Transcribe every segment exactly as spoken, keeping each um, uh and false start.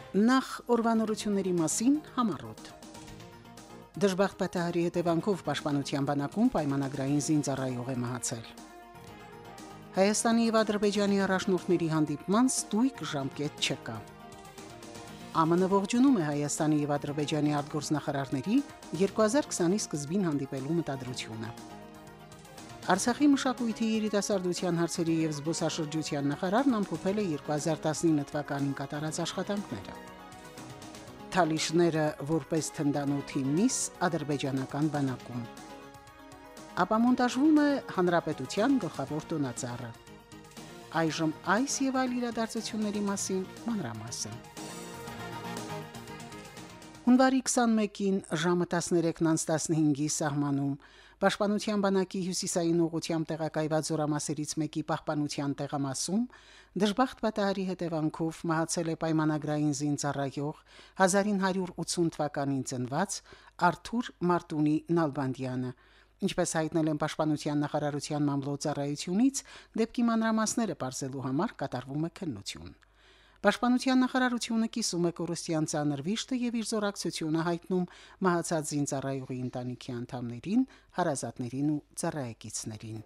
Նախ օրվանորությունների մասին համառոտ։ Դժբախտ պատահարի հետևանքով Պաշտպանության բանակում պայմանագրային զինծառայող է մահացել։ Հայաստանի եւ Ադրբեջանի առաջնորդների հանդիպման ստույգ ժամկետ չկա։ ԱՄՆ ողջունում է Հայաստանի եւ Ադրբեջանի արտգործնախարարների երկու հազար քսանի սկզբին հանդիպելու մտադրությունը։ Արցախի մշակույթի երիտասարդության հարցերի եւ զբոսաշրջության նախարարն ամփոփել է երկու հազար տասնինը թվականին կատարած աշխատանքները։ Թալիշները որպես թնդանոթի միս ադրբեջանական բանակում։ Ապամոնտաժվում է հանրապետության գլխավոր տոնածառը։ Այժմ այս եւ այլ իրադարձությունների մասին մանրամասն։ Հունվարի քսանմեկին ժամը տասներեքն անց տասնհինգի սահմանում Պաշտպանության բանակի հյուսիսային ուղղությամբ տեղակայված զորամասերից մեկի պահպանության տեղամասում դժբախտ պատահարի հետևանքով մահացել է պայմանագրային զինծառայող հազար ինը հարյուր ութսուն թվականին ծնված Արթուր Մարտունի Նալբանդյանը։ Ինչպես հայտնել են Պաշտպանության նախարարության մամլոյցարայությունից, դեպքի մանրամասները բարձելու համար կատարվում է քննություն։ Պաշտպանության նախարարությունը կիսում է կորստյան ծանր վիշտը եւ իր զորակցությունը հայտնում մահացած զինծառայողի ընտանիքի անդամներին, հարազատներին ու ծառայեկիցներին։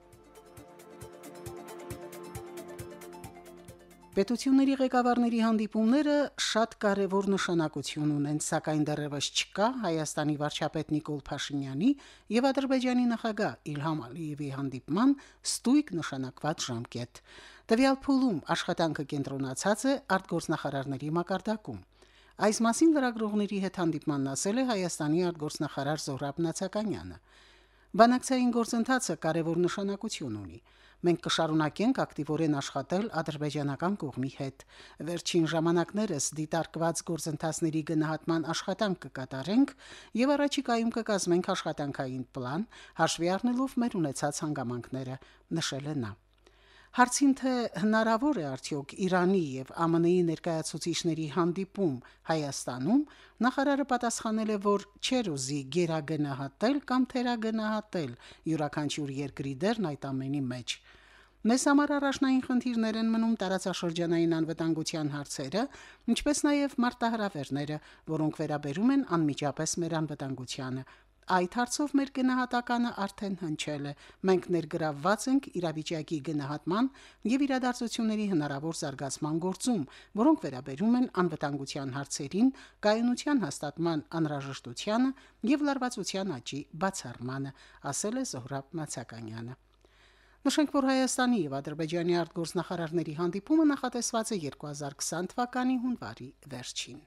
Պետությունների ղեկավարների հանդիպումները շատ կարևոր նշանակություն ունեն, սակայն դեռևս չկա Հայաստանի վարչապետ Նիկոլ Փաշինյանի եւ Ադրբեջանի նախագահ Իլհամ Ալիևի հանդիպման ստույգ նշանակված ժամկետ։ Տվյալ փուլում աշխատանքը կենտրոնացած է արտգործնախարարների մակարդակում։ Այս մասին լրագրողների հետ հանդիպմանն ասել է Հայաստանի արտգործնախարար Զոհրաբ Նացականյանը։ Բանակցային գործընթացը կարևոր նշանակություն ունի։ Մենք կշարունակենք ակտիվորեն աշխատել ադրբեջանական կողմի հետ։ Վերջին ժամանակներս դիտարկված գործընթացների գնահատման աշխատանք կկատարենք եւ առաջիկայում կկազմենք աշխատանքային պլան, հաշվի առնելով մեր ունեցած հանգամանքները, նշել է նա։ Հարցին թե հնարավոր է արդյոք Իրանի եւ ԱՄՆ-ի ներկայացուցիչների հանդիպում Հայաստանում, նախարարը պատասխանել է, որ չեր ուզի գերագնահատել կամ թերագնահատել յուրաքանչյուր երկրի դերն այդ ամենի մեջ։ Մեզ համար առաջնային խնդիրներ են մնում տարածաշրջանային անվտանգության հարցերը, ինչպես նաև մարտահրավերները, որոնք վերաբերում են անմիջապես մեր անվտանգությանը։ Այդ հարցով մեր գնահատականը արդեն հնչել է։ Մենք ներգրավված ենք իրավիճակի գնահատման եւ իրադարձությունների հնարավոր զարգացման գործում, որոնք վերաբերում են անվտանգության հարցերին, կայունության հաստատման անհրաժեշտությանը եւ լարվածության աճի բացառմանը, ասել է Զոհրաբ Նացականյանը։ Նշենք, որ Հայաստանի եւ Ադրբեջանի արտգործնախարարների հանդիպումը նախատեսված է երկու հազար քսան թվականի հունվարի վերջին։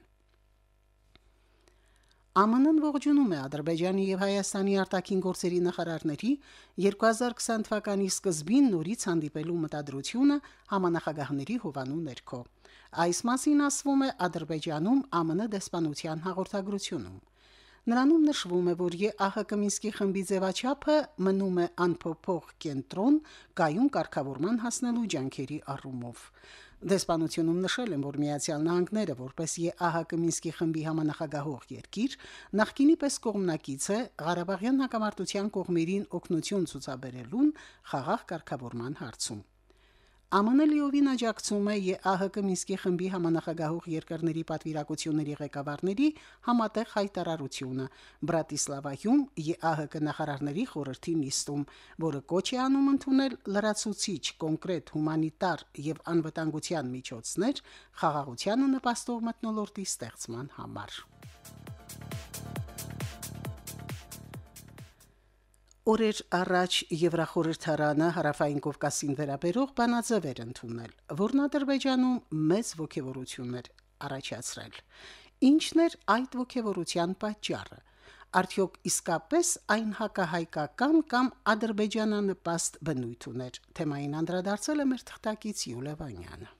ԱՄՆ-ն ողջունում է Ադրբեջանի եւ Հայաստանի արտաքին գործերի նախարարների երկու հազար քսան թվականի սկզբին նորից հանդիպելու մտադրությունը համանախագահների հովանու ներքո։ Այս մասին ասվում է Ադրբեջանում ԱՄՆ դեսպանության հաղորդագրությունում։ Նրանում նշվում է, որ ԵԱՀԿ Մինսկի խմբի ձևաչափը մնում է անփոփոխ կենտրոն կայուն կարգավորման հասնելու ջանքերի առումով։ Դեսպանությունում նշել են, որ Միացյալ Նահանգները, որպես ԵԱՀԿ Մինսկի խմբի համանախագահող երկիր, նախկինի պես կողմնակից է Ղարաբաղյան հակամարտության կողմերին օգնություն ցուցաբերելուն խաղաղ կարգավորման հարցում։ ԱՄՆ լիովին աջակցում է ԵԱՀԿ Մինսկի խմբի համանախագահող երկրների պատվիրակությունների ղեկավարների համատեղ հայտարարությունը Բրատիսլավայում ԵԱՀԿ նախարարների խորհրդի նիստում, որը կոչ է անում ընդունել լրացուցիչ կոնկրետ հումանիտար եւ անվտանգության միջոցներ խաղաղությանը նպաստող մթնոլորտի ստեղծման համար։ Օրեր առաջ Եվրախորհրդարանը Հարավային Կովկասին վերաբերող բանաձև ընդունել, որն Ադրբեջանում մեծ ոգևորություններ առաջացրել։ Ինչն էր այդ ոգևորության պատճառը։ Արդյոք իսկապես այն հակահայկական կամ ադրբեջանանպաստ բնույթ ուներ։ Թեմային անդրադարձել է մեր թղթակից Յուլիա Վանյանը։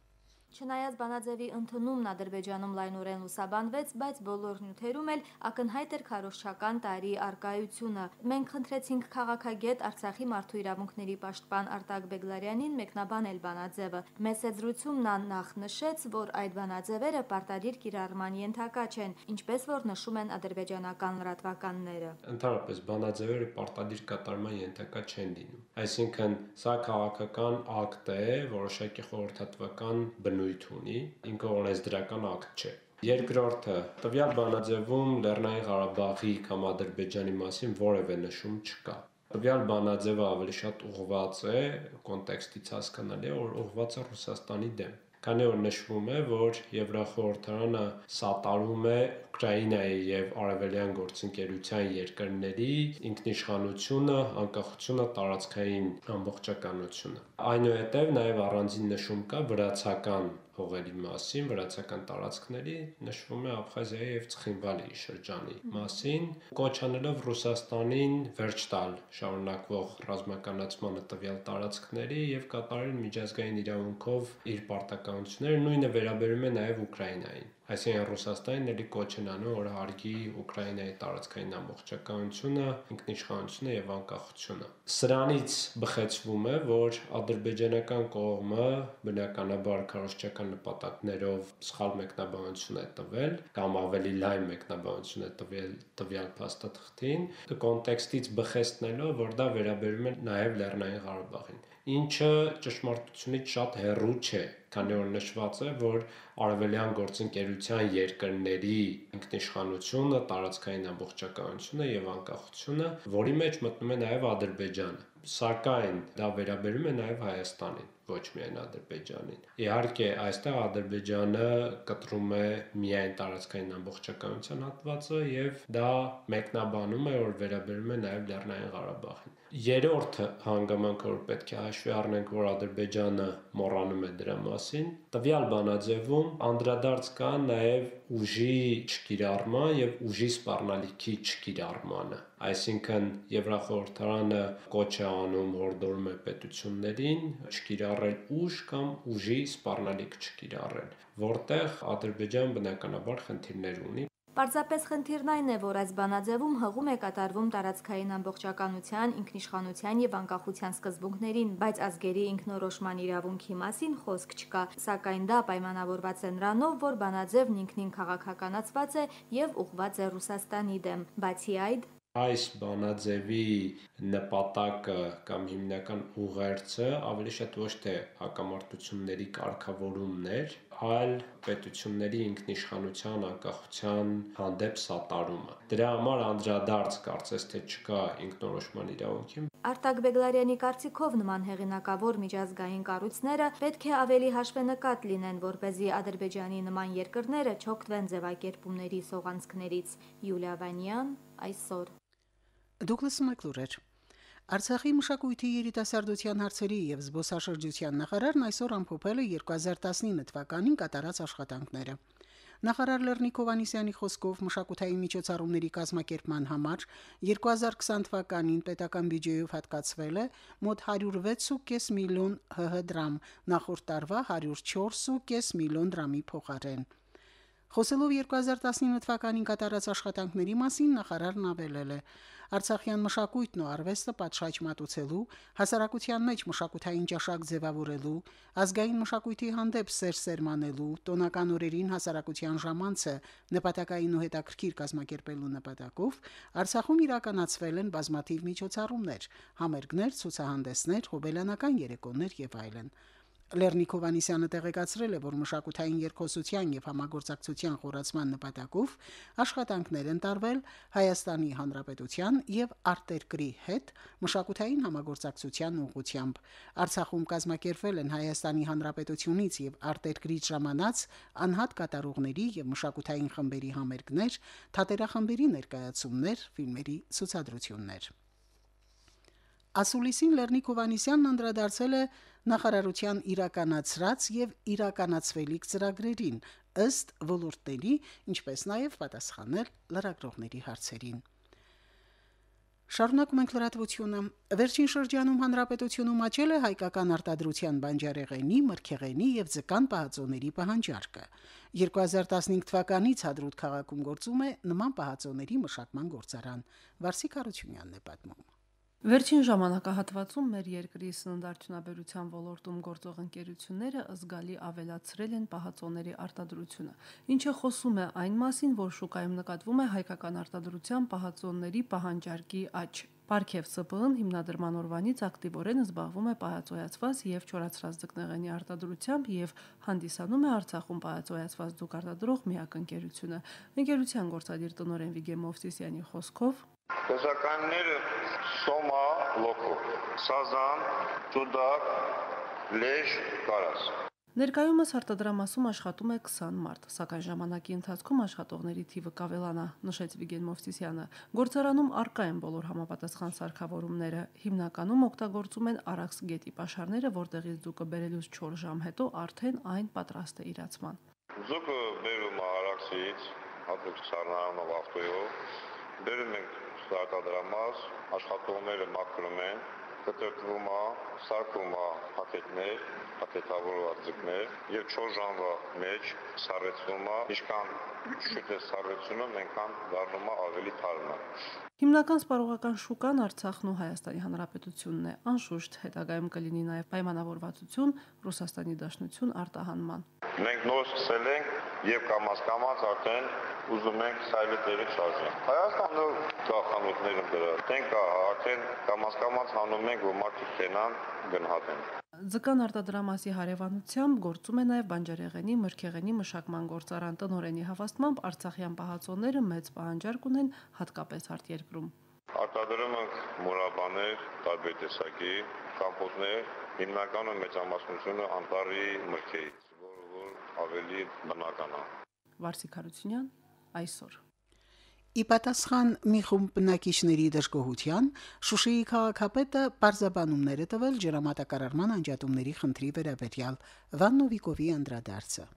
Չնայած բանաձևի ընդունումն Ադրբեջանում լայնորեն լուսաբանվեց, բայց բոլոր նյութերում էլ ակնհայտ էր քարոզչական տարրի առկայությունը։ Մենք խնդրեցինք քաղաքագետ Արցախի մարդու իրավունքների պաշտպան Արտակ Բեգլարյանին մեկնաբանել բանաձևը։ Մեծ զրույցում նա նախ նշեց, որ այդ բանաձևերը պարտադիր կիրառման ենթակա չեն, ինչպես որ նշում են ադրբեջանական լրատվականները։ Ընդհանրապես բանաձևերը պարտադիր կատարման ենթակա չեն լինում։ Այսինքն սա քաղաքական ակտ է, որոշակի խորհրդատվական բնույթ բնույթ ունի, ինքը օրենսդրական ակտ չէ։ Երկրորդը, տվյալ բանաձևում Լեռնային Ղարաբաղի կամ Ադրբեջանի մասին որևէ նշում չկա։ Տվյալ բանաձևը ավելի շատ ուղղված է, կոնտեքստից հասկանալի է, որ ուղղված է Ռուսաստանի դեմ։ Քանի որ նշվում է, որ Եվրախորհրդարանը սատարում է Ուկրաինայի եւ Արևելյան գործընկերության երկրների ինքնիշխանությունը, անկախությունը, տարածքային ամբողջականությունը։ Այնուհետև նաեւ առանձին նշում կա վրացական հողերի մասին, վրացական տարածքների, նշվում է Աբխազիայի եւ Ցխինվալի շրջանի մասին, կոչ անելով Ռուսաստանին վերջ տալ շարունակվող ռազմականացմանը տվյալ տարածքների եւ կատարել միջազգային իրավունքով իր պարտականությունները, նույնը վերաբերում է նաեւ Ուկրաինային։ Այսինքն Ռուսաստանին ելի կոչ են անում, որ հարգի Ուկրաինայի տարածքային ամբողջականությունը, ինքնիշխանությունը եւ անկախությունը։ Սրանից բխեցվում է, որ ադրբեջանական կողմը բնականաբար քարոզչական նպատակներով սխալ մեկնաբանություն է տվել կամ ավելի լայն մեկնաբանություն է տվել տվյալ փաստաթղթին, կոնտեքստից բխեցնելով, որ դա վերաբերում է նաեւ Լեռնային Ղարաբաղին, ինչը ճշմարտությունից շատ հեռու չէ, քանի որ նշված է, որ Արևելյան գործընկերության երկրների ինքնիշխանությունը, տարածքային ամբողջականությունը եւ անկախությունը, որի մեջ մտնում է նաեւ Ադրբեջանը։ Սակայն դա վերաբերում է նաեւ Հայաստանին, ոչ միայն Ադրբեջանին։ Իհարկե, այստեղ Ադրբեջանը կտրում է միայն տարածքային ամբողջականության հատվածը եւ դա մեկնաբանում է, որ վերաբերում է նաեւ Լեռնային Ղարաբաղին։ Երրորդ հանգամանքը, որ պետք է հաշվի առնենք, որ Ադրբեջանը մոռանում է դրա մասին, տվյալ բանաձևում անդրադարձ կա նաեւ ուժի չկիրառման եւ ուժի սպառնալիքի չկիրառմանը։ Այսինքն Եվրախորհրդարանը կոչ է անում, հորդորում է պետություններին չկիրառել ուժ կամ ուժի սպառնալիք չկիրառել, որտեղ Ադրբեջանը բնականաբար խնդիրներ ունի։ Պարզապես խնդիրն այն է, որ այս բանաձևում հղում է կատարվում տարածքային ամբողջականության, ինքնիշխանության եւ անկախության սկզբունքներին, բայց ազգերի ինքնորոշման իրավունքի մասին խոսք չկա, սակայն դա պայմանավորված է նրանով, որ բանաձևն ինքնին քաղաքականացված է եւ ուղղված է Ռուսաստանի դեմ։ Բացի այդ, այս բանաձևի նպատակը կամ հիմնական ուղերձը ավելի շատ ոչ թե հակամարտությունների կարգավորումն էր, այլ պետությունների ինքնիշխանության, անկախության հանդեպ սատարումը։ Դրա համար անդրադարձ կարծես թե չկա ինքնորոշման իրավունքին։ Արտակ Բեգլարյանի կարծիքով նման հեղինակավոր միջազգային կառույցները պետք է ավելի հաշվենկատ լինեն, որպեսզի Ադրբեջանի նման երկրները չօգտվեն ձևակերպումների սողանցքներից։ Յուլիա Վանյան, այսօր։ Դուգլաս Մակլուրեր Արցախի մշակույթի երիտասարդության հարցերի եւ զբոսաշրջության նախարարն այսօր ամփոփել է երկու հազար տասնինը թվականին կատարած աշխատանքները։ Նախարար Լեռնիկ Հովհաննիսյանի խոսքով մշակութային միջոցառումների կազմակերպման համար երկու հազար քսան թվականին պետական բյուջեով հատկացվել է մոտ հարյուր վեց ու կես միլիոն հհ դրամ, նախորդ տարվա հարյուր չորս ու կես միլիոն դրամի փոխարեն։ Խոսելով երկու հազար տասնինը թվականին կատարած աշխատանքների մասին նախարարն ավելել է. Արցախյան մշակույթն ու արվեստը պատշաճ մատուցելու, հասարակության մեջ մշակութային ճաշակ ձևավորելու, ազգային մշակույթի հանդեպ սեր սերմանելու, տոնական օրերին հասարակության ժամանցը նպատակային ու հետաքրքիր կազմակերպելու նպատակով Արցախում իրականացվել են բազմաթիվ միջոցառումներ, համերգներ, ցուցահանդեսներ, հոբելյանական երեկոներ եւ այլն։ Լեռնիկ Հովհաննիսյանը տեղեկացրել է, որ մշակութային երկխոսության եւ համագործակցության խորացման նպատակով աշխատանքներ են տարվել Հայաստանի Հանրապետության եւ արտերկրի հետ մշակութային համագործակցության ուղղությամբ։ Արցախում կազմակերպվել են Հայաստանի Հանրապետությունից եւ արտերկրից ժամանած անհատ կատարողների եւ մշակութային խմբերի համերգներ, թատերախմբերի ներկայացումներ, ֆիլմերի ցուցադրություններ։ Ասուլիսին Լեռնիկ Հովհաննիսյանն անդրադարձել է նախարարության իրականացրած եւ իրականացվելիք ծրագրերին ըստ ոլորտների, ինչպես նաեւ պատասխանել լրագրողների հարցերին։ Շարունակում ենք լրատվությունը։ Վերջին շրջանում հանրապետությունում աճել է հայկական արտադրության բանջարեղենի, մրգեղենի եւ ձկան պահածոների պահանջարկը։ երկու հազար տասնհինգ թվականից Հադրութ քաղաքում գործում է նման պահածոների մշակման գործարան։ Վարսիկ Հարությունյանն է պատմում։ Վերջին ժամանակահատվածում մեր երկրի սննդարդյունաբերության ոլորտում գործող ընկերությունները զգալի ավելացրել են պահածոների արտադրությունը, ինչը խոսում է այն մասին, որ շուկայում նկատվում է հայկական արտադրության պահածոների պահանջարկի աճ։ Պարքև ՍՊԸ-ն հիմնադրման օրվանից ակտիվորեն զբաղվում է պահածոյացված եւ չորացրած ձկնեղենի արտադրությամբ եւ հանդիսանում է Արցախում պահածոյացված ձուկ արտադրող միակ ընկերությունը։ Ընկերության գործադիր տնօրեն Վիգեն Մովսիսյանի խոսքով Տեսականները սոմա, լոկո, սազան, ճուդակ, լեժ, կարաս։ Ներկայումս արտադրամասում աշխատում է քսան մարդ, սակայն ժամանակի ընթացքում աշխատողների թիվը կավելանա, նշեց Վիգեն Մովսիսյանը։ Գործարանում առկա են բոլոր համապատասխան սարքավորումները, հիմնականում օգտագործում են Արաքս գետի պաշարները, որտեղից ձուկը բերելուց չորս ժամ հետո արդեն այն պատրաստ է իրացման։ Ձուկը բերում է Արաքսից, հատուկ սառնարանով ավտոյով, բերում ենք արտադրամաս, աշխատողները մաքրում են, կտրտվում է, սարքում է փաթեթներ, փաթեթավորված ձկներ եւ չորս ժամվա մեջ սառեցվում է, ինչքան շուտ է սառեցումը, այնքան դառնում է ավելի թարմը։ Հիմնական սպառողական շուկան Արցախն ու Հայաստանի Հանրապետությունն է, անշուշտ հետագայում կլինի նաև պայմանավորվածություն Ռուսաստանի Դաշնություն արտահանման։ Մենք նոր սկսել ենք եւ կամաց-կամաց արդեն ուզում ենք սայլետերը շարժել։ Հայաստանը կա խանութներում դրա, տեն կա, արդեն կամաց-կամաց հանում ենք, որ մարդիկ տենան գնահատեն։ Ձկան արտադրամասի հարևանությամբ գործում է նաև բանջարեղենի, մրգեղենի մշակման գործարան տնօրենի հավաստմամբ Արցախյան պահածոները մեծ պահանջարկ ունեն հատկապես արտերկրում։ Արտադրում ենք մուրաբաներ, տարբեր տեսակի, կամպոտներ, հիմնականում մեծամասնությունը անտառի մրգերից, որը որ ավելի բնական է։ Վարսիկ Հարությունյան այսօր։ Ի պատասխան մի խումբ բնակիչների դժգոհության Շուշիի քաղաքապետը պարզաբանումներ է տվել ջրամատակարարման անջատումների խնդրի վերաբերյալ Վաննովիկովի անդրադարձը։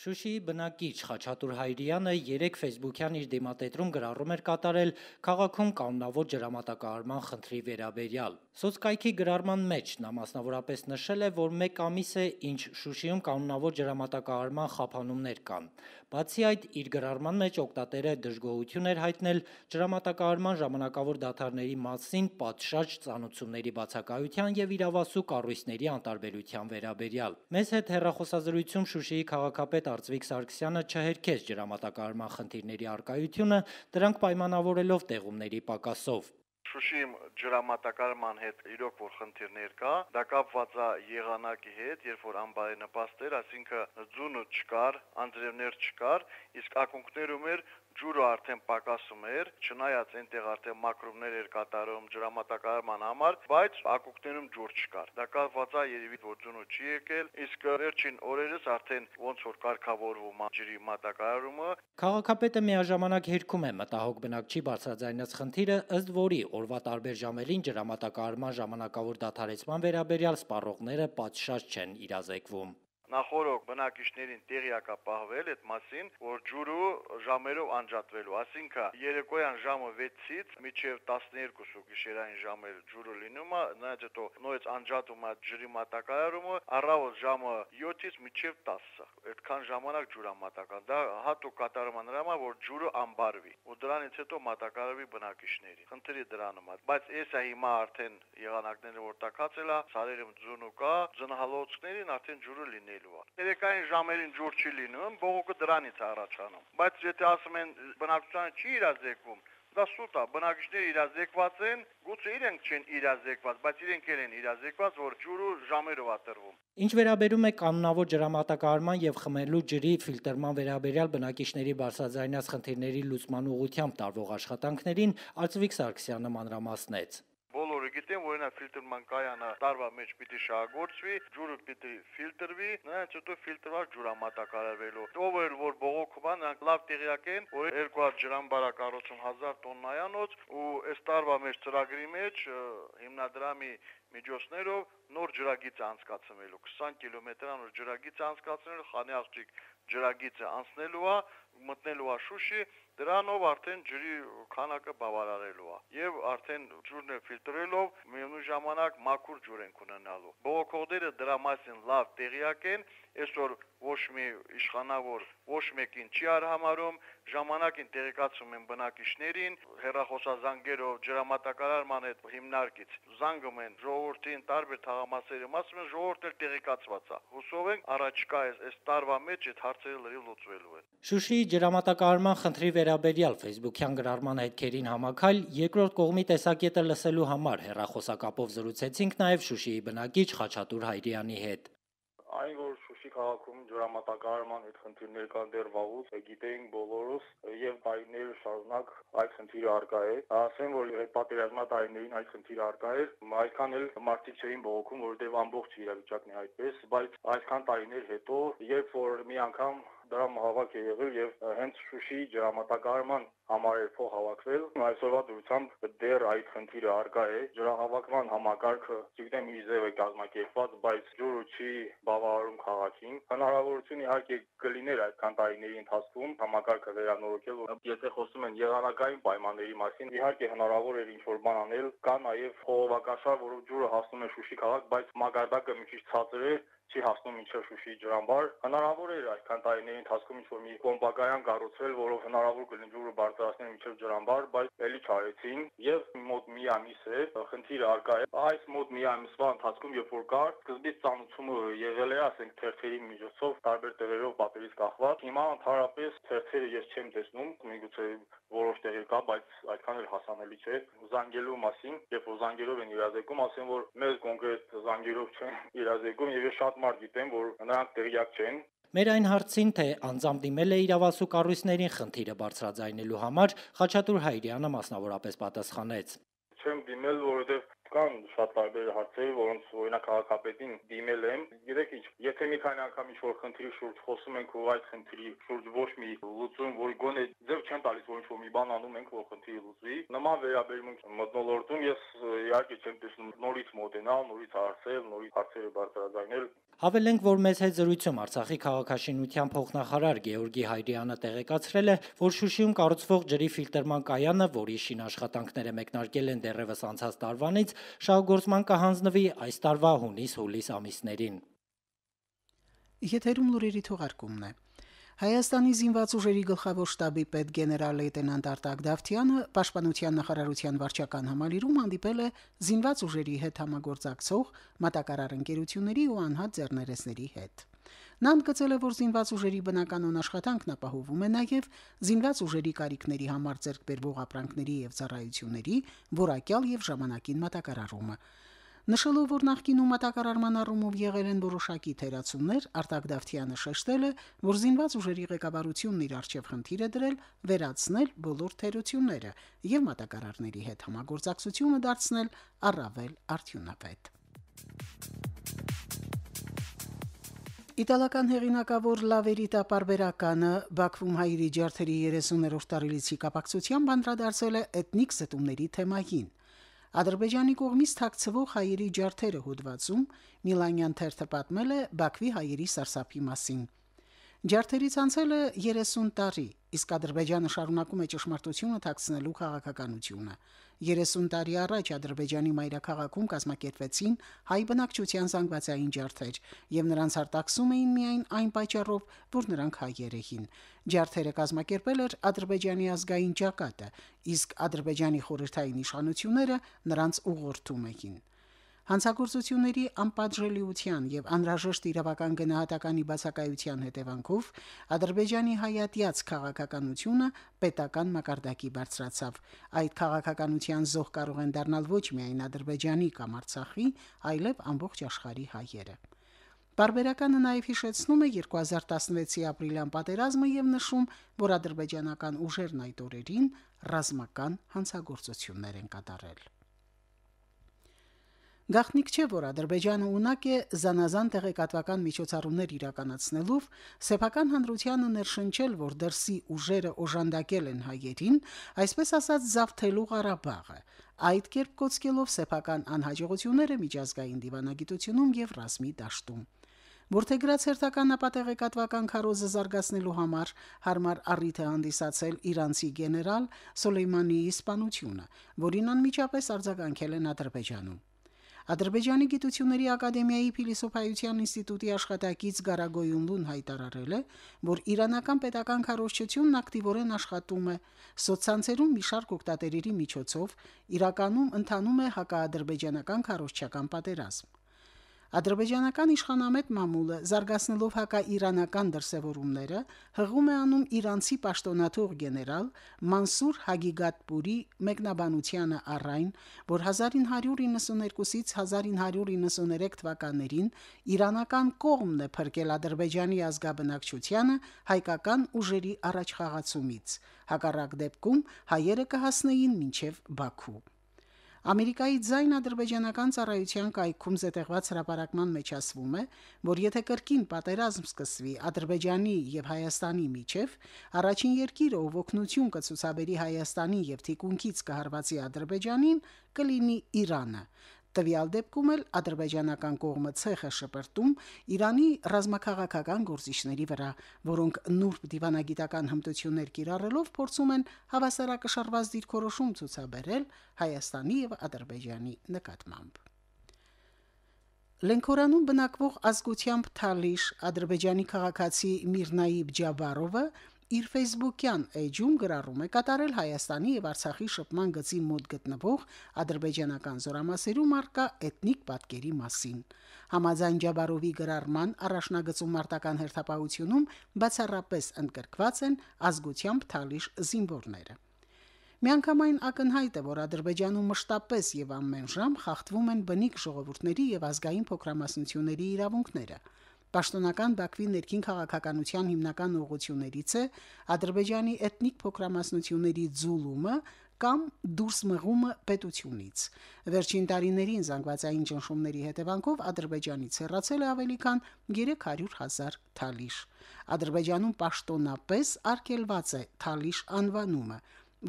Շուշիի բնակիչ Խաչատուր Հայրյանը երեք ֆեյսբուքյան իր դիմատետրում գրառում էր կատարել քաղաքում կանոնավոր ջրամատակարարման խնդրի վերաբերյալ։ Սոցկայքի գրառման մեջ նա մասնավորապես նշել է, որ մեկ ամիս է, ինչ Շուշիում կանոնավոր ջրամատակարարման խափանումներ կան։ Բացի այդ, իր գրառման մեջ օգտատերը դժգոհություն էր հայտնել ջրամատակարարման ժամանակավոր դադարների մասին պատշաճ ծանուցումների բացակայության եւ իրավասու կառույցների անտարբերության վերաբերյալ։ Մեզ հետ հեռախոսազրույցում Շուշիի քաղաքապետ Արծվիկ Սարգսյանը չհերքեց ջրամատակարարման խնդիրների առկայությունը, դրանք պայմանավորելով տեղումների պակասով։ Շուշիում ջրամատակարարման հետ իրոք որ խնդիրներ կա, դա կապված է եղանակի հետ, երբ որ անբարենպաստ էր, այսինքն ձյունը չկար, անձրևներ չկար, իսկ ակունքներում էր ջուրը արդեն պակասում էր, չնայած այնտեղ արդեն մակրումներ էր կատարում ջրամատակարարման համար, բայց ակունքներում ջուր չկար։ Դա կապված է երևի որ ձյունը չի եկել, իսկ վերջին օրերս արդեն ոնց որ կարգավորվում է ջրի մատակարարումը։ Քաղաքապետը միաժամանակ հերքում է մտահոգ բնակչի բարձրաձայնած խնդիրը, ըստ որի օրվա տարբեր ժամերին ջրամատակարարման ժամանակավոր դադարեցման վերաբերյալ սպառողները պատշաճ չեն իրազեկվում։ Նախորդ բնակիչներին տեղյակ է պահվել այդ մասին, որ ջուրը ժամերով անջատվելու, այսինքն երեկոյան ժամը վեցից մինչև տասներկուսը գիշերային ժամեր ջուրը լինում է, նայած հետո նույնիսկ անջատում է ջրի մատակարարումը, առավոտ ժամը յոթից մինչև տասը, այդքան ժամանակ ջուրամատական։ Դա հատուկ կատարում է նրա համար, որ ջուրը անբարվի, ու դրանից հետո մատակարարվի բնակիչների։ Խնդիրը դրանում է, բայց այս է հիմա արդեն եղանակները որ տակածել է, սարերում ձյունը կա, ձնահալոցքներին արդեն ջուրը լինել։ Երեկային ժամերին ջուր չի լինում, բողոքը դրանից է առաջանում։ Բայց եթե ասում են բնակչությանը չի իրազեկվում, դա սուտ է, բնակիչները իրազեկված են, գուցե իրենք չեն իրազեկված, բայց իրենք էլ են իրազեկված, որ ջուրը ժամերով է տրվում։ Ինչ վերաբերում է կանոնավոր ջրամատակարարման եւ խմելու ջրի ֆիլտրման վերաբերյալ բնակիչների բարձրաձայնած խնդիրների լուծման ուղղությամբ տարվող աշխատանքներին, Արծվիկ Սարգսյանը մանրամասնեց։ Բոլորը գիտեն, որ նա ֆիլտրման կայանը տարվա մեջ պիտի շահագործվի, ջուրը պիտի ֆիլտրվի, նրանց հետո ֆիլտրված ջրամատակարարվելու։ Ով էր որ բողոքում է, նրանք լավ տեղյակ են, որ երկու հատ ջրամբար է կառուցում հազար տոննայանոց, ու այս տարվա մեջ ծրագրի մեջ հիմնադրամի միջոցներով նոր ջրագիծ անցկացնելու, քսան կիլոմետրանոց ջրագիծ անցկացնելու, Խանի աղջիկ ջրագիծը անցնելու է, մտնելու է Շուշի, դրանով արդեն ջրի քանակը բավարարելու է եւ արդեն ջուրն ֆիլտրելով միևնույն ժամանակ մաքուր ջուր են ունենալու։ Բողոքողները դրա մասին լավ տեղյակ են այսօր ոչ մի իշխանավոր ոչ մեկին չի արհամարում, ժամանակին տեղեկացում են բնակիչներին, հեռախոսազանգերով ջրամատակարարման հետ հիմնարկից զանգում են ժողովրդին տարբեր թաղամասերում, ասում են ժողովուրդն էլ տեղեկացված է։ Հուսով ենք առաջկա այս տարվա մեջ այդ հարցերը լրիվ լուծվելու են։ Շուշիի ջրամատակարարման խնդրի վերաբերյալ Facebook-յան գրառման հետքերին համակալ երկրորդ կողմի տեսակետը լսելու համար հեռախոսակապով զրուցեցինք նաև Շուշիի բնակիչ Խաչատուր Հայրյանի հետ։ Այն որ Շուշի քաղաքում ջրամատակարարման այդ խնդիրներ կան դեռ վաղուց, գիտեինք բոլորս եւ տարիներ շարունակ այդ խնդիրը արկա է։ Ասեմ, որ այդ պատերազմա տարիներին այդ խնդիրը արկա էր, այդքան էլ մարդիկ չէին բողոքում, որովհետեւ ամբողջ իրավիճակն է այդպես, բայց այսքան տարիներ հետո, երբ որ մի անգամ դրամ հավաք է եղել եւ հենց Շուշիի ջրամատակարարման համար էր փող հավաքվել, այսօրվա դրությամբ դեռ այդ խնդիրը արկա է։ Ջրահավաքման համակարգը, չգիտեմ, ի ձև է կազմակերպված, բայց ջուրը չի բավարարում քաղաքին։ Հնարավորություն իհարկե կլիներ այդքան տարիների ընթացքում համակարգը վերանորոգել, եթե խոսում են եղանակային պայմանների մասին, իհարկե հնարավոր էր ինչ-որ բան անել։ Կա նաեւ խողովակաշար, որով ջուրը հասնում է Շուշի քաղաք, բայց մակարդակը մի քիչ ցածր է, չի հասնում մինչև Շուշիի ջրամբար։ Հնարավոր էր այսքան տարիների ընթացքում ինչ-որ մի կոմպակայան կառուցել, որով հնարավոր կլինի ջուրը բարձրացնել մինչև ջրամբար, բայց էլի չարեցին եւ մոտ մի ամիս է խնդիրը արկա է։ Այս մոտ մի ամսվա ընթացքում երբ որ կար, սկզբից ծանոթումը եղել է, ասենք, թերթերի միջոցով, տարբեր տեղերով պատերից կախված։ Հիմա ընդհանրապես թերթերը ես չեմ տեսնում, միգուցե որոշ տեղեր կա, բայց այդքան էլ հասանելի չէ։ Զանգելու մասին, երբ որ զանգերով են իրազեկում, ասեմ, որ մեզ կոնկրետ զանգերով չեն իրազեկում եւ ես շատ մարդ գիտեմ, որ նրանք տեղյակ չեն։ Մեր այն հարցին, թե անձամբ դիմել է իրավասու կառույցներին խնդիրը բարձրաձայնելու համար, Խաչատուր Հայրյանը մասնավորապես պատասխանեց. Չեմ դիմել, որովհետեւ կան շատ տարբեր հարցեր, որոնց օրինակ քաղաքապետին դիմել եմ։ Գիտեք ինչ, եթե մի քանի անգամ ինչ-որ խնդրի շուրջ խոսում ենք, ու այդ խնդրի շուրջ ոչ մի լուծում, որ գոնե ձև չեն տալիս, որ ինչ-որ մի բան անում ենք, որ խնդիրը լուծվի, նման վերաբերմունք մթնոլորտում ես իհարկե չեմ տեսնում նորից մոտենալ, նորից հարցել, նորից հարցերը բարձրաձայնել։ Հավելենք, որ մեծ հետ զրույցում Արցախի քաղաքաշինության փոխնախարար Գեորգի Հայրյանը տեղեկացրել է, որ Շուշիում կառուցվող ջրի ֆիլտրման կայանը, որի շինաշխատանքները մեկնարկել են դեռևս անցած տարվանից, շահգործման կհանձնվի այս տարվա հունիս-հուլիս ամիսներին։ Եթերում լուրերի թողարկումն է։ Հայաստանի զինված ուժերի գլխավոր շտաբի պետ գեներալ լեյտենանտ Արտակ Դավթյանը Պաշտպանության նախարարության վարչական համալիրում հանդիպել է զինված ուժերի հետ համագործակցող մատակարար ընկերությունների ու անհատ ձեռներեցների հետ։ Նա ընդգծել է, որ զինված ուժերի բնականոն աշխատանքն ապահովում է նաև զինված ուժերի կարիքների համար ձեռք բերվող ապրանքների եւ ծառայությունների որակյալ եւ ժամանակին մատակարարումը։ Նշելով, որ նախկինում մատակարարման առումով եղել են որոշակի թերացումներ, Արտակ Դավթյանը շեշտել է, որ զինված ուժերի ղեկավարությունն իր արչև խնդիր է դրել վերացնել բոլոր թերությունները եւ մատակարարների հետ համագործակցությունը դարձնել առավել արդյունավետ։ Իտալական հեղինակավոր Լավերիտա պարբերականը Բաքվում հայերի ջարդերի երեսուներորդ տարելիցի կապակցությամբ անդրադարձել է էթնիկ զտումների թեմային։ Ադրբեջանի կողմից թաքցվող հայերի ջարդերը հոդվածում Միլանյան թերթը պատմել է Բաքվի հայերի սարսափի մասին։ Ջարդերից անցել է երեսուն տարի, իսկ Ադրբեջանը շարունակում է ճշմարտությունը թաքցնելու քաղաքականությունը։ երեսուն տարի առաջ Ադրբեջանի մայրաքաղաքում կազմակերպվեցին հայ բնակչության զանգվածային ջարդեր, եւ նրանց արտաքսում էին միայն այն պատճառով, որ նրանք հայեր էին։ Ջարդերը կազմակերպել էր Ադրբեջանի ազգային ճակատը, իսկ Ադրբեջանի խորհրդային իշխանությունները նրանց ուղղորդում էին։ Հանցագործությունների անպատժելիության եւ անհրաժեշտ իրավական գնահատականի բացակայության հետևանքով Ադրբեջանի հայատյաց քաղաքականությունը պետական մակարդակի բարձրացավ։ Այդ քաղաքականության զոհ կարող են դառնալ ոչ միայն Ադրբեջանի կամ Արցախի, այլև ամբողջ աշխարհի հայերը։ Պարբերականը նաև հիշեցնում է երկու հազար տասնվեցի ապրիլյան պատերազմը եւ նշում, որ ադրբեջանական ուժերն այդ օրերին ռազմական հանցագործություններ են կատարել։ Գաղտնիք չէ, որ Ադրբեջանը ունակ է զանազան տեղեկատվական միջոցառումներ իրականացնելով սեփական հանրությանը ներշնչել, որ դրսի ուժերը օժանդակել են հայերին, այսպես ասած զավթելու Ղարաբաղը, այդ կերպ կոծկելով սեփական անհաջողությունները միջազգային դիվանագիտությունում եւ ռազմի դաշտում։ Որթեգրած հերթական ապատեղեկատվական քարոզը զարգացնելու համար հարմար առիթ է հանդիսացել իրանցի գեներալ Սոլեյմանիի սպանությունը, որին անմիջապես արձագանքել են Ադրբեջանում։ Ադրբեջանի գիտությունների ակադեմիայի փիլիսոփայության ինստիտուտի աշխատակից Գարագոյունլուն հայտարարել է, որ իրանական պետական քարոզչությունն ակտիվորեն աշխատում է սոցցանցերում մի շարք օգտատերերի միջոցով, իրականում ընթանում է հակաադրբեջանական քարոզչական պատերազմ։ Ադրբեջանական իշխանամետ մամուլը, զարգացնելով հակաիրանական դրսևորումները, հղում է անում իրանցի պաշտոնաթող գեներալ Մանսուր Հագիգատպուրի մեկնաբանությանը առ այն, որ հազար ինը հարյուր իննսուներկուսից հազար ինը հարյուր իննսուներեք թվականներին իրանական կողմն է փրկել Ադրբեջանի ազգաբնակչությանը հայկական ուժերի առաջխաղացումից։ Հակառակ դեպքում հայերը կհասնեին մինչև Բաքու։ Ամերիկայի ձայն ադրբեջանական ծառայության կայքում զետեղված հրապարակման մեջ ասվում է, որ եթե կրկին պատերազմ սկսվի Ադրբեջանի եւ Հայաստանի միջև, առաջին երկիրը, ով օգնություն կցուցաբերի Հայաստանին եւ թիկունքից կհարվածի Ադրբեջանին, կլինի Իրանը։ Տվյալ դեպքում էլ ադրբեջանական կողմը ցեխ է շպրտում Իրանի ռազմաքաղաքական գործիչների վրա, որոնք նուրբ դիվանագիտական հմտություններ կիրառելով փորձում են հավասարակշռված դիրքորոշում ցուցաբերել Հայաստանի եւ Ադրբեջանի նկատմամբ։ Լենքորանում բնակվող ազգությամբ թալիշ ադրբեջանի քաղաքացի Միրնայիբ Ջաբարովը իր Facebook-յան էջում գրառում է կատարել Հայաստանի եւ Արցախի շփման գծի մոտ գտնվող ադրբեջանական զորամասերում արկա էթնիկ պատկերի մասին։ Համաձայն Ջաբարովի գրառման առաջնագծում մարտական հերթապահությունում բացառապես ընդգրկված են ազգությամբ թալիշ զինվորները։ Միանգամայն ակնհայտ է, որ Ադրբեջանում մշտապես եւ ամեն ժամ խախտվում են բնիկ ժողովուրդների եւ ազգային փոքրամասնությունների իրավունքները։ Պաշտոնական Բաքվի ներքին քաղաքականության հիմնական ուղղություններից է Ադրբեջանի էթնիկ փոքրամասնությունների ձուլումը կամ դուրս մղումը պետությունից։ Վերջին տարիներին զանգվածային ճնշումների հետևանքով Ադրբեջանից հեռացել է ավելի քան երեք հարյուր հազար թալիշ։ Ադրբեջանում պաշտոնապես արգելված է թալիշ անվանումը։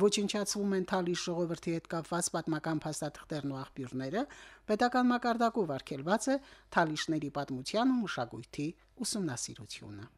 Ոչնչացվում են թալիշ ժողովրդի հետ կապված պատմական փաստաթղթերն ու աղբյուրները, պետական մակարդակով արգելված է թալիշների պատմության ու մշակույթի ուսումնասիրությունը։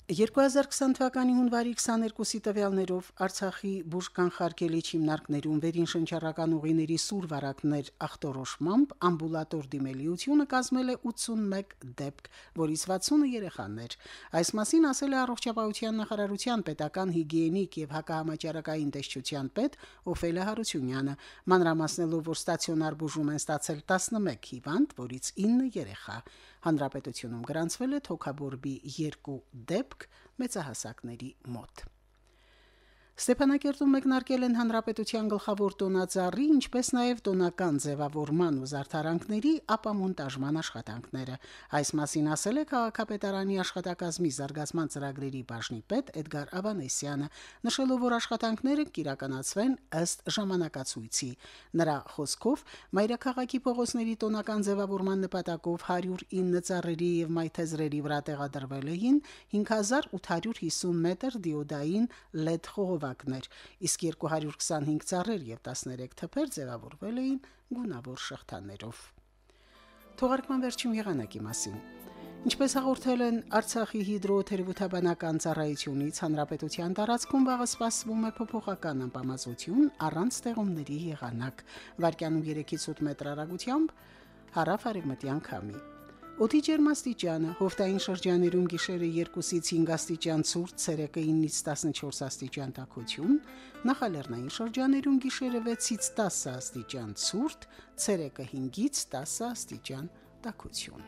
երկու հազար քսան թվականի հունվարի քսաներկուսի տվյալներով Արցախի բուժկանխարգելիչ հիմնարկներում վերին շնչառական ուղիների սուր վարակներ ախտորոշմամբ ամբուլատոր դիմելիությունը կազմել է ութսունմեկ դեպք, որից վաթսունը երեխաներ։ Այս մասին ասել է Առողջապահության նախարարության պետական հիգիենիկ եւ հակահամաճարակային տեսչության պետ Օֆելիա Հարությունյանը, մանրամասնելով, որ ստացիոնար բուժում են ստացել տասնմեկ հիվանդ, որից ինը երեխա։ Հանրապետությունում գրանցվել է թոքաբորբի երկու դեպք մեծահասակների մոտ։ Ստեփանակերտում մեկնարկել են հանրապետության գլխավոր տոնածառի, ինչպես նաև տոնական ձևավորման ու զարդարանքների ապամոնտաժման աշխատանքները։ Այս մասին ասել է քաղաքապետարանի աշխատակազմի զարգացման ծրագրերի բաժնի պետ Էդգար Ավանեսյանը, նշելով, որ աշխատանքները կիրականացվեն ըստ ժամանակացույցի։ Նրա խոսքով մայրաքաղաքի փողոցների տոնական ձևավորման նպատակով հարյուր ինը ծառերի եւ մայթեզրերի վրա տեղադրվել էին հինգ հազար ութ հարյուր հիսուն մետր դիոդային լեդ խողովակներ, իսկ երկու հարյուր քսանհինգ ծառեր եւ տասներեք թփեր ձևավորվել էին գունավոր շղթաներով։ Թողարկման վերջին եղանակի մասին։ Ինչպես հաղորդել են Արցախի հիդրոթերապևտաբանական ծառայությունից, հանրապետության տարածքում վաղը սպասվում է փոփոխական անբավարարություն առանց ստեղումների եղանակ, վարկյանում երեքից ութ մետր հեռագությամբ հարավ-արևմտյան քամի։ Օդի ջերմաստիճանը հովտային շրջաներում գիշերը երկուսից հինգ աստիճան ցուրտ, ցերեկը ինից տասնչորս աստիճան տաքություն, նախալեռնային շրջաներում գիշերը վեցից տասը աստիճան ցուրտ, ցերեկը հինգից տասը աստիճան տաքություն։